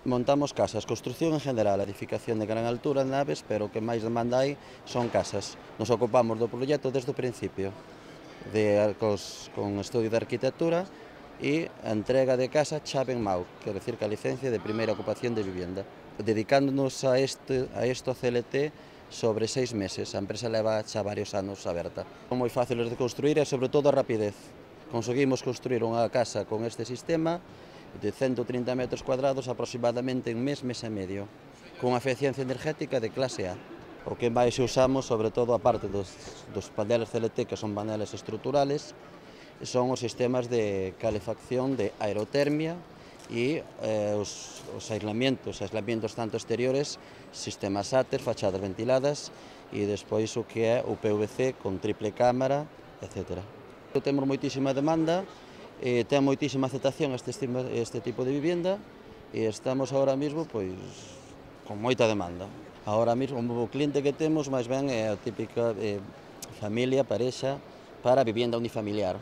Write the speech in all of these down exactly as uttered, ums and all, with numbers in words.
Montamos casas, construción en general, edificación de gran altura, naves, pero o que máis demanda hai son casas. Nos ocupamos do proxecto desde o principio, de, cos, con estudio de arquitectura e a entrega de casa chave en Mau, quer decir que a licencia de primeira ocupación de vivienda. Dedicándonos a este, a isto C L T sobre seis meses, a empresa leva xa varios anos aberta. Son moi fáciles de construir e sobre todo a rapidez. Conseguimos construir unha casa con este sistema de cento trinta metros cuadrados aproximadamente en mes, mes e medio, con unha eficiencia energética de clase A. O que máis usamos, sobre todo a parte dos, dos paneles C L T, que son paneles estruturales, son os sistemas de calefacción de aerotermia e eh, os, os aislamientos, aislamientos tanto exteriores, sistemas áter, fachadas ventiladas e despois o que é o P V C con triple cámara, etcétera. Temos moitísima demanda, eh, ten moitísima aceptación este, este tipo de vivienda e estamos ahora mesmo pois, con moita demanda. Ahora mesmo o cliente que temos máis ben é a típica eh, familia, parexa, para a vivienda unifamiliar.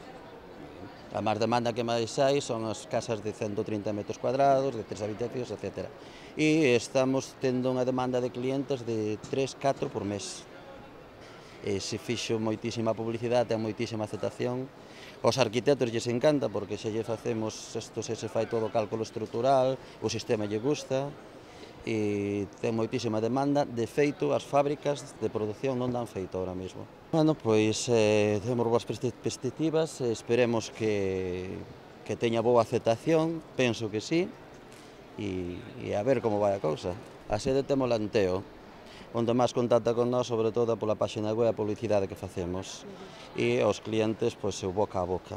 A máis demanda que máis hai son as casas de cento trinta metros cuadrados, de tres habitacións, etcétera. E estamos tendo unha demanda de clientes de tres, catro por mes. E se fixo moitísima publicidade, ten moitísima aceptación. Os arquitectos lles encanta porque se lle facemos isto, se se fai todo o cálculo estrutural, o sistema lle gusta e ten moitísima demanda. De feito, as fábricas de produción non dan feito ahora mesmo. Bueno, pois eh, temos boas perspectivas, esperemos que, que teña boa aceptación, penso que sí, e, e a ver como vai a cousa. A sede temos Lanteo, onde máis contacta con nós, sobre todo pola páxina web e a publicidade que facemos. E os clientes, pois, o boca a boca.